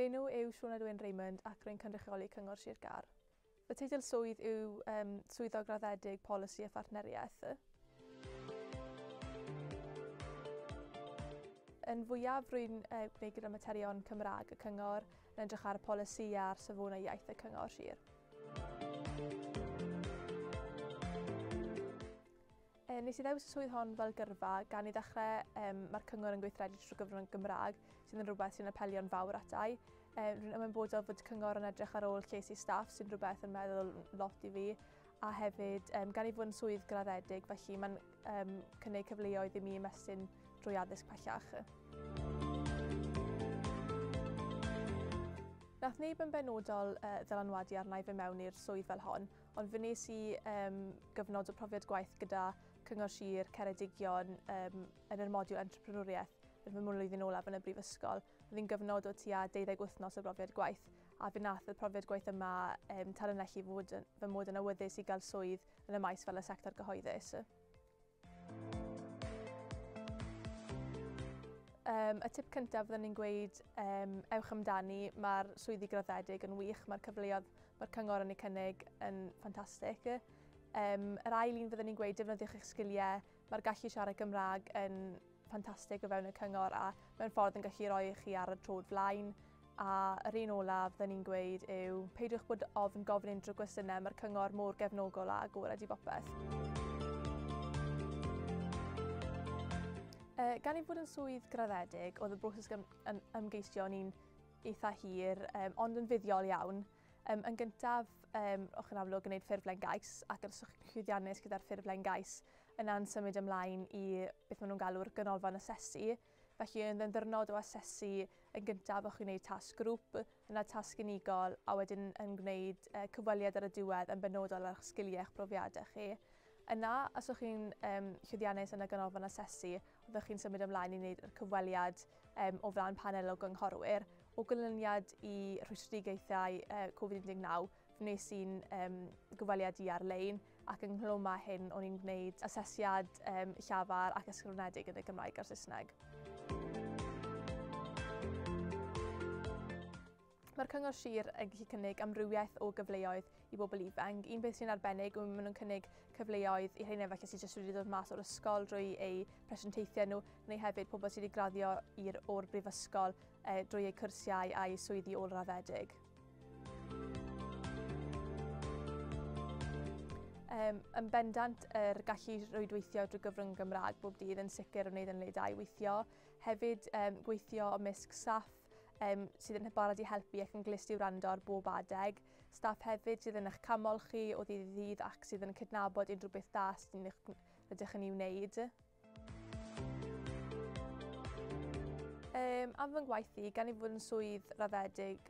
Fy enw yw Sioned Wyn Raymond ac rwy'n cynrychioli Cyngor Sir Gâr. Fy teitl swydd yw Swyddog Graddedig Polisi a Phartneriaeth. Yn fwyaf rwy'n gwneud gyda materion Cymraeg y Cyngor, yn edrych ar y polisi a'r safonau iaith y Cyngor Sir. Nes i ddewis y swydd hon fel gyrfa gan i ddechrau mae'r cyngor yn gweithredu trwy gyfrwng y Gymraeg, sydd yn rhywbeth sy'n apelio'n fawr atai. Rwy'n ymwybodol fod cyngor yn edrych ar ôl lles i staff, sy'n rhywbeth yn meddwl lot i fi. A hefyd, gan i fod yn swydd graddedig, felly mae'n cynnig cyfleoedd i mi ymestyn drwy addysg pellach. Nath neb yn benodol ddylanwadu arna i fy mewn i'r swydd fel hon, ond fe wnes i gyfnod o profiad gwaith gyda Cyngor Sir Ceredigion yn yr modiwl entrepreneuriaeth yn fy mlwyddyn olaf yn y brifysgol. Oedd hi'n gyfnod o tua 12 wythnos o brofiad gwaith, a fe nath y profiad gwaith yma tanlinellu fy mod yn awyddus i gael swydd yn y maes fel y sector gyhoeddus. Y tip cyntaf fyddwn ni'n gweud, ewch amdani, mae'r swyddi graddedig yn wych, mae'r cyfleoedd mae'r cyngor yn eu cynnig yn ffantastig. Yr ail un fyddwn ni'n gweud, defnyddiwch eich sgiliau, mae'r gallu siarad Gymraeg yn ffantastig o fewn y cyngor a mewn ffordd yn gallu rhoi chi ar y troed flaen. A yr un olaf fyddwn ni'n gweud yw peidiwch bod ofn gofyn unrhyw gwestiynau, mae'r cyngor mor gefnogol a agored i bopeth. Gan i fod yn swydd graddedig, oedd y broses ymgeisio yn un eitha hir, ond yn fuddiol iawn. Yn gyntaf, o'ch yn amlwg yn gwneud ffurflen gais, ac os o'ch chi'n llwyddiannus gyda'r ffurflen gais, yna'n symud ymlaen i beth maen nhw'n galw'r ganolfan asesu. Felly, yn ddiwrnod o asesu, yn gyntaf o'ch chi'n gwneud tasg grŵp, yna tasg unigol, a wedyn yn gwneud cyfweliad ar y diwedd yn benodol ar eich sgiliau eich profiadau chi. Yna, os o'ch chi'n llwyddiannus yn y ganolfan asesu, oeddech chi'n symud ymlaen i wneud yr cyfweliad o flaen panel o gynghorwyr. O ganlyniad i rhwystredigaethau Covid-19, fe wnes i'n gyfweliad i ar-lein, ac ynghlwm â hyn o'n i'n gwneud asesiad llafar ac ysgrifenedig yn y Gymraeg a'r Saesneg. Mae'r Cyngor Sir yn gallu cynnig amrywiaeth o gyfleoedd i bobl ifanc. Un peth sy'n arbennig yw maen nhw'n cynnig cyfleoedd i rheina falle sydd jyst wedi dod mas o'r ysgol drwy eu presentaethau nhw, neu hefyd pobl sydd wedi graddio o'r brifysgol drwy eu cwrsiau a'u swyddi ôl-raddedig. Yn bendant, yr gallu rwydweithio drwy gyfrwng Gymraeg bob dydd yn sicr o wneud yn le da i weithio. Hefyd, gweithio ymysg staff sydd yn barod i helpu ac yn glust i wrando ar bob adeg. Staff hefyd sydd yn eich canmol chi o ddydd i ddydd ac sydd yn cydnabod unrhyw beth da sydd rydych yn ei wneud. Am fy ngwaith i, gan i fod yn swydd raddedig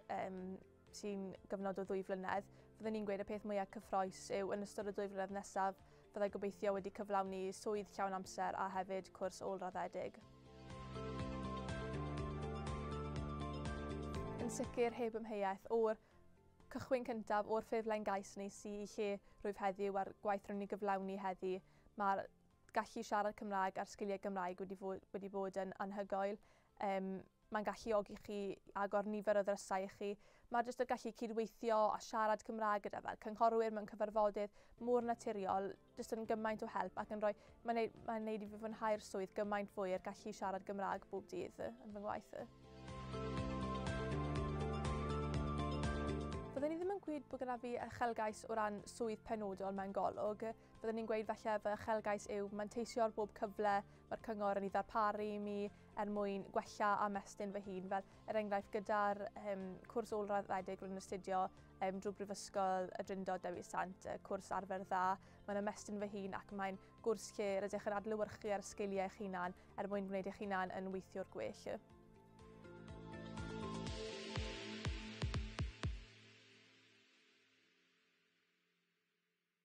sy'n gyfnod o 2 flynedd, fyddwn ni'n gweud y peth mwyaf cyffrous yw yn ystod y 2 flynedd nesaf fyddai gobeithio wedi cyflawni swydd llawn amser a hefyd cwrs ôl-raddedig. Yn sicr heb amheuaeth o'r cychwyn cyntaf o'r ffurflen gais nes i lle rwyf heddiw a'r gwaith rwy'n ei gyflawni heddi, mae'r gallu siarad Cymraeg a'r sgiliau Gymraeg wedi bod yn anhygoel. Mae'n galluogi chi agor nifer o ddrysau i chi. Mae jyst y gallu cydweithio a siarad Cymraeg gyda fel cynghorwyr mewn cyfarfodydd mor naturiol, jyst yn gymaint o help ac yn rhoi, mae'n neud i fi fwynhau'r swydd gymaint fwy i'r gallu siarad Gymraeg bob dydd yn fy ngwaith. Fyddwn ni ddim yn gweud bod gyda fi uchelgais o ran swydd penodol mewn golwg. Fyddwn ni'n gweud falle fy uchelgais yw manteisio ar bob cyfle mae'r cyngor yn ei ddarparu i mi er mwyn gwella a ymestyn fy hun. Fel er enghraifft gyda'r cwrs ôl-raddedig rwy'n astudio drwy Brifysgol y Drindod Dewi Sant, y cwrs arfer dda, mae'n ymestyn fy hun ac mae'n gwrs lle rydych yn adlewyrchu ar sgiliau eich hunan er mwyn gwneud eich hunan yn weithiwr gwell.